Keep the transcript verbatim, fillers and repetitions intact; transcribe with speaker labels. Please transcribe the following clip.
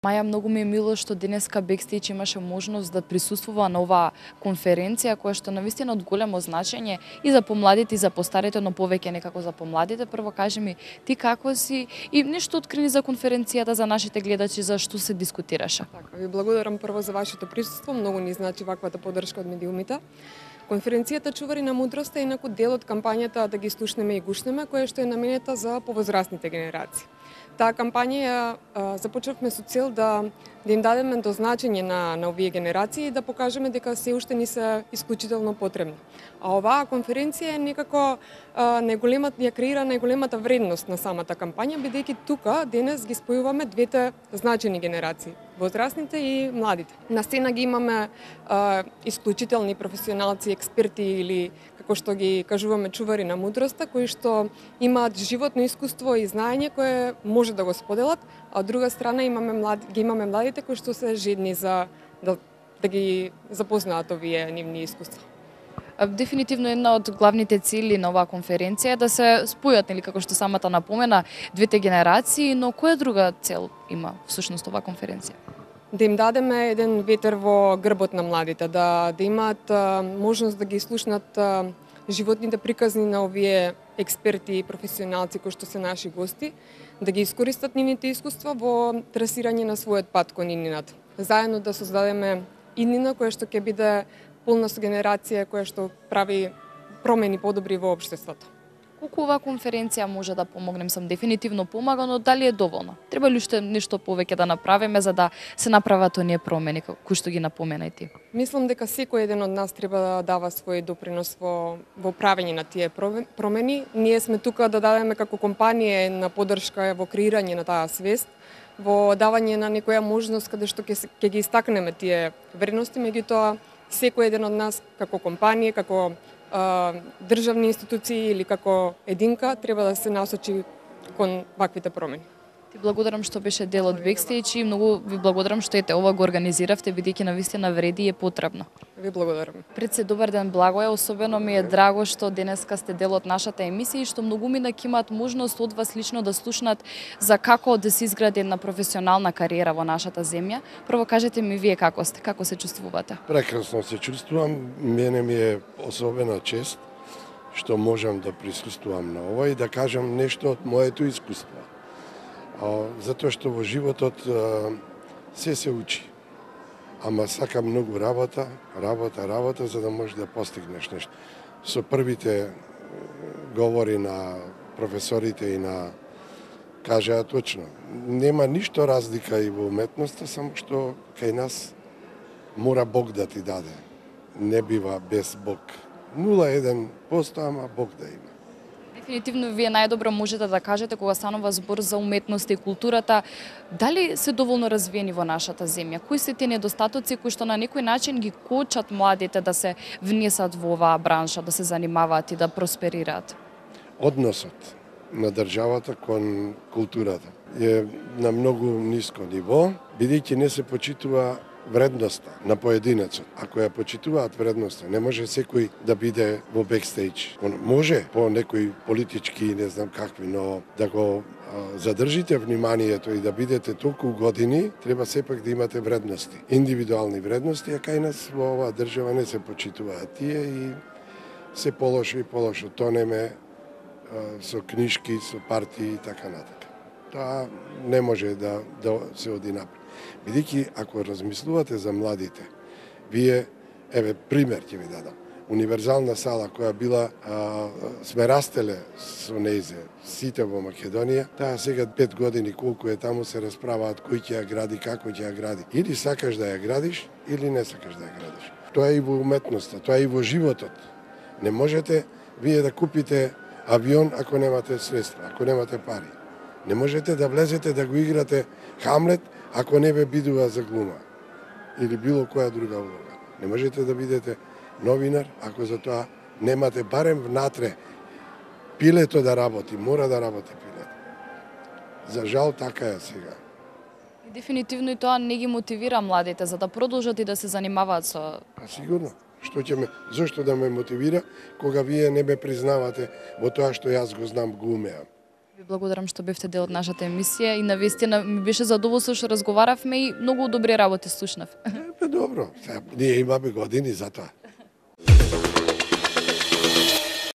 Speaker 1: Маја, многу ми е мило што денеска Бекстејдж имаше можност да присуствува на оваа конференција која што навистина од големо значење и за помладите и за постарите, но повеќе некако за помладите. Прво кажи ми, ти како си и нешто открини за конференцијата за нашите гледачи, за што се дискутираше?
Speaker 2: Така, ви благодарам прво за вашето присуство, многу ни значи ваквата поддршка од медиумите. Конференцијата Чувари на мудроста е инаку дел од кампањата Да ги слушнеме и гушнеме, која што е наменета за повозрастните генерации. Таа кампања ја започнавме со цел да, да им дадеме до значење на, на овие генерации и да покажеме дека се уште ни се исклучително потребни. А оваа конференција е некако најголемата, ја креира најголемата вредност на самата кампања, бидејќи тука денес ги спојуваме двете значени генерации, возрастните и младите. На сцена ги имаме а, исклучителни професионалци, експерти или како што ги кажуваме чувари на мудроста, кои што имаат животно искуство и знаење кое може да го споделат, а од друга страна имаме млади, ги имаме младите кои што се жедни за да, да ги запознаат овие нивни искуства.
Speaker 1: Дефинитивно една од главните цели на оваа конференција е да се спојат, нели како што самата напомена, двете генерации, но која друга цел има всушност оваа конференција?
Speaker 2: Да им дадеме еден ветер во грбот на младите, да, да имаат а, можност да ги слушнат а, животните приказни на овие експерти и професионалци кои што се наши гости, да ги искористат нивните искуства во трасирање на својот пат кон иднината. Заедно да создадеме иднина која што ќе биде полна со генерација која што прави промени подобри во општеството.
Speaker 1: Колку оваа конференција може да помогнем, сам дефинитивно помага, но дали е доволно? Треба ли уште нешто повеќе да направиме за да се направат оние промени кои што ги напомена и ти?
Speaker 2: Мислам дека секој еден од нас треба да дава свој допринос во, во правење на тие промени. Ние сме тука да дадеме како компанија на поддршка во креирање на таа свест, во давање на некоја можност каде што ќе, ќе ги истакнеме тие вредности, меѓутоа секој еден од нас како компанија, како државни институции или како единка треба да се насочи кон ваквите промени.
Speaker 1: Ти благодарам што беше дел од Бекстејдж и многу ви благодарам што ете ова го организиравте, бидејќи навистина вреди и е потребно.
Speaker 2: Ви благодарам.
Speaker 1: Пред се добар ден, Благоје, особено ми е драго што денеска сте дел од нашата емисија и што многумина ќе имаат можност од вас лично да слушнат за како да се изгради една професионална кариера во нашата земја. Прво кажете ми вие како сте, како се чувствувате?
Speaker 3: Прекрасно се чувствувам, мене ми е особена чест што можам да присуствувам на ова и да кажам нешто од моето искуство. Затоа што во животот се се учи. Ама сака многу работа, работа, работа, за да можеш да постигнеш нешто. Со првите говори на професорите и на кажаа точно. Нема ништо разлика и во уметноста, само што кај нас мора Бог да ти даде. Не бива без Бог. нула еден проценти, ама Бог да има.
Speaker 1: Дефинитивно вие најдобро можете да кажете кога станува збор за уметност и културата, дали се доволно развиени во нашата земја? Кои се тие недостатоци кои што на некој начин ги кочат младите да се внесат во оваа бранша, да се занимаваат и да просперираат?
Speaker 3: Односот на државата кон културата е на многу ниско ниво, бидејќи не се почитува вредноста на поединецот. Ако ја почитуваат вредноста, не може секој да биде во Бекстејдж. Може по некои политички, не знам какви, но да го а, задржите вниманието и да бидете толку години, треба сепак да имате вредности. Индивидуални вредности, а кај нас во оваа држава не се почитуваат тие и се полошо и полошо тонеме а, со книшки, со партии и така натака. Тоа не може да, да се оди напред. Бидејќи, ако размислувате за младите, вие, еве, пример ќе ви дадам. Универзална сала која била, а, сме растеле со нејзе, сите во Македонија, таа сега пет години колку е таму се расправаат кој ќе ја гради, како ќе ја гради. Или сакаш да ја градиш, или не сакаш да ја градиш. Тоа е и во уметноста, тоа е и во животот. Не можете вие да купите авион ако немате средства, ако немате пари. Не можете да влезете да го играте Хамлет ако не ве бидува за глума или било која друга улога. Не можете да бидете новинар ако за тоа немате барем внатре пилето да работи, мора да работи пилето. За жал така е сега.
Speaker 1: Дефинитивно и тоа не ги мотивира младите за да продолжат и да се занимаваат со...
Speaker 3: А сигурно. Што ќе ме, зошто да ме мотивира кога вие не ме признавате во тоа што јас го знам, го умеам?
Speaker 1: Ви благодарам што бевте дел од нашата емисија и навистина ми беше задоволство што разговаравме и многу добри работи слушнав.
Speaker 3: Е, добро, сега, ние имаме години за тоа.